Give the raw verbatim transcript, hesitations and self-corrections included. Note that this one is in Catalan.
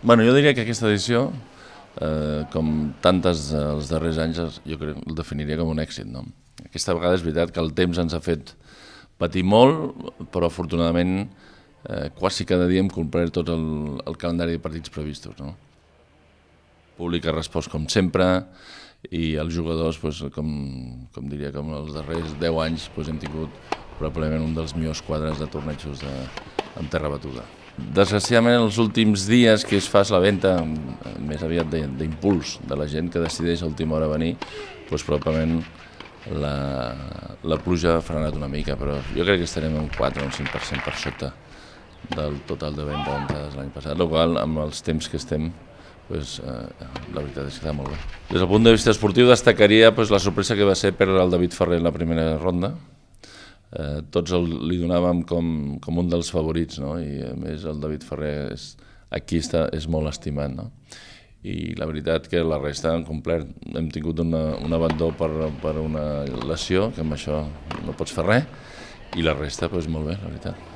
Bueno, jo diria que aquesta edició, eh, com tantes els darrers anys, jo crec que el definiria com un èxit. No? Aquesta vegada és veritat que el temps ens ha fet patir molt, però afortunadament eh, quasi cada dia hem complert tot el, el calendari de partits previstos. No? El públic ha respost com sempre i els jugadors, doncs, com, com diria, com els darrers deu anys, doncs, hem tingut probablement un dels millors quadres de tornejos de, en terra batuda. Desgraciadament, els últims dies que es fa la venda, més aviat d'impuls de la gent que decideix a última hora venir, doncs probablement la, la pluja ha frenat una mica, però jo crec que estarem un quatre o un cinc per cent per sota del total de venda d'entrades l'any passat, el qual amb els temps que estem, doncs, eh, la veritat és que està molt bé. Des del punt de vista esportiu destacaria doncs, la sorpresa que va ser perdre el David Ferrer en la primera ronda. Eh, tots el, li donàvem com, com un dels favorits, no? I a més el David Ferrer és, aquí està, és molt estimat. No? I la veritat que la resta han complert, hem tingut una, un abandó per, per una lesió, que amb això no pots fer res, i la resta doncs, molt bé, la veritat.